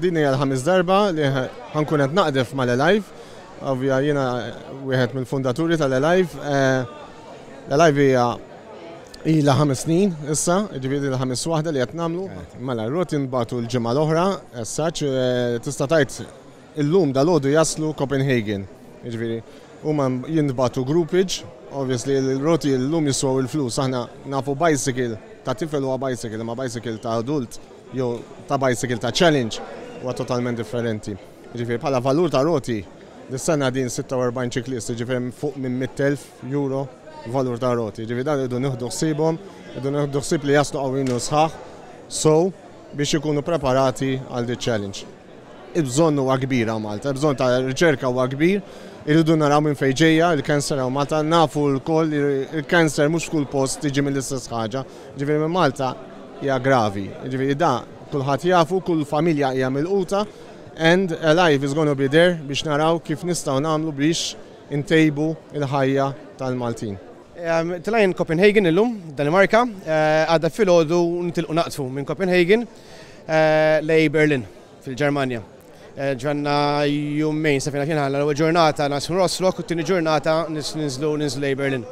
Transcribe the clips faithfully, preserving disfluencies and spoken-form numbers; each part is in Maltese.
Din hija l-ħames darba li ħa nkun qed naqdef mal-Alive. Ovvja, jiena wieħed mill-fundaturi tal-Alive. Eh, L-Alive hija ilha ħames snin issa, ġifieri l-ħames waħda li qed nagħmlu. Mela, r-roti nbagħtu l-ġimgħa l-oħra, essaċ, eh, tista' tgħid illum dalgħodu jaslu Copenhagen. Ġifieri, huma jintbagħtu groupage, obviously l-roti llum jiswaw il-flus, aħna nafu bicycle ta' tifel huwa bicycle, ma bicycle ta' adult jew ta' bicycle ta' challenge huwa totalment differenti. Ġifieri, bħala valur ta' roti, dis-sena din sitta u erbgħin ċiklist, ġifieri fuq minn mitt elf euro valur ta' roti. Ġifieri dan irridu nieħdu ħsiebhom, irridu nieħdu ħsieb li jaslu qawwin u sħaħ, so biex ikunu preparati għal di challenge. Il-bżonn huwa kbir hawn Malta, il-bżonn ta' riċerka huwa kbir, irridu naraw minn fejn ġejja il-cancer hawn Malta, nafu lkoll il-cancer mhux f'kull post tiġi mill-istess ħaġa, ġifieri minn Malta hija gravi. Ġifieri da kulħadd jafu, kull familja hija milquta, and Alive is gonna be there biex naraw kif nistgħu nagħmlu biex intejbu il-ħajja tal-Maltin. Tlajn Copenhagen illum, Danimarka, eh, għada filgħodu nitilqu naqtfu minn Copenhagen eh, lej Berlin fil-Ġermanja. Eh, Ġanna jumejn sa fejna kien l-ewwel ġurnata naslu Rostock u t-tieni ġurnata ninżlu ninżlu lej Berlin.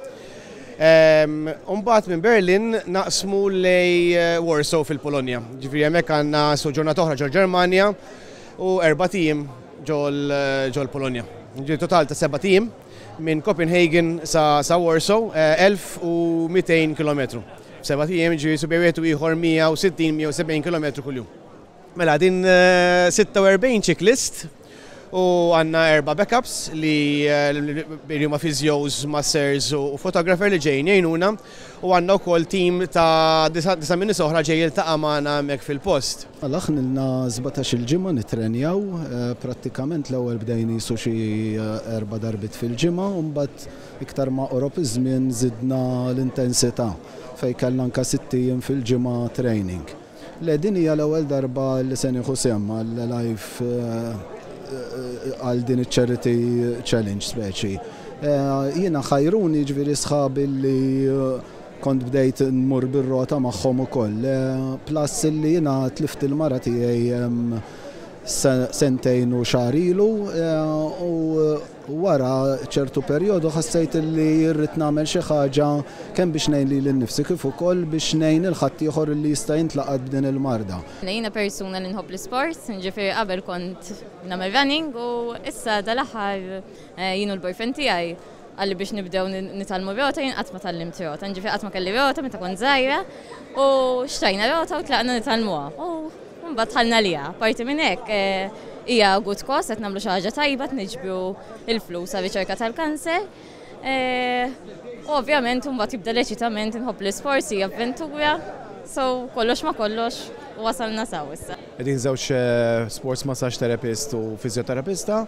Umbagħad minn Berlin naqsmu lej Warsaw fil-Polonja. Ġifieri hemmhekk għandna so ġurnata oħra ġol Ġermanja u erbat ijiem ġol Polonja. Ġifieri total ta' sebat ijiem minn Copenhagen sa, sa Warsaw, elf u mitejn kilometru. Sebat ijiem, ġifieri su bejn wieħed u ieħor mija u sittin mija u sebgħin kilometru kuljum. Mela, din sitta u erbgħin ċiklist u għandna erba backups li li huma physios, masseurs u photographer li ġejjin jgħinuna u għandna wkoll team ta' disa' min oħra ġej jiltaqa' magħna hemmhekk fil-post. Mela, aħna ilna sbatax-il ġimgħa nitrenjaw, eh, prattikament l-ewwel bdejna jisu xi eh, erba' darbit fil-ġimgħa u mbagħad iktar ma qorob iż-żmien żidna l-intensità fejn kellna anka sitt ijiem fil-ġimgħa training. Le, din hija l-ewwel darba li se nieħu sehem għal-Alive, għal din iċ-charity challenge speċi. Jiena ħajruni, ġifieri, sħabi li kont bdejt nmur bir-rota magħhom ukoll. Plus li jiena tlift il-mara tiegħi sentejn u xahar ilu u wara ċertu perjodu ħassejt li rrid nagħmel xi ħaġa kemm biex ngħin lili nnifsi kif ukoll biex ngħin lil ħaddieħor li jista' jintlaqat b'din il-marda. Jiena persuna li nħobb l-sports, ġifieri qabel kont nagħmel running u issa dal-aħħar jien u l-boyfriend tiegħi qalli biex nibdew nitgħallmu rota. Jien qatt ma tgħallimt rota, ġifieri qatt ma kelli rota meta kont żgħira u xtrajna rota u tlaqna nitgħallmuha. U mbagħad dħalna liha. Parti minn hekk hija good cause, qed nagħmlu xi ħaġa tajba, niġbru il-flus għal riċerka tal-kanser. U ovvjament mbagħad jibda l-eċitament, inħobb l-isports, hija avventura, so kollox ma kollox wasalna s'hawn issa. Qegħdin żewġ sports massage therapist u fizjoterapista.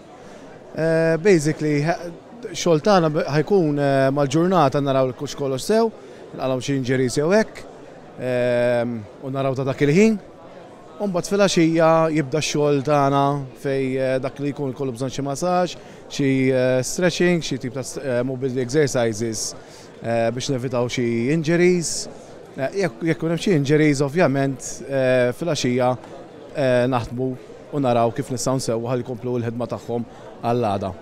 Basically, xogħol tagħna ħa jkun mal-ġurnata naraw kux kollox sew, nqalgħu xi injuries jew hekk, u naraw ta' dak il-ħin. Umbagħad filgħaxija jibda x-xogħol tagħna fej dak li jkun kollu bżonn xi massage, xi stretching, xi tip ta' mobility exercises biex nevitaw xi injuries. Jekk jekk hemm xi injuries, ovvjament filgħaxija naħdmu u naraw kif nistgħu nsewwu ħalli jkomplu l-ħidma tagħhom għall-għada.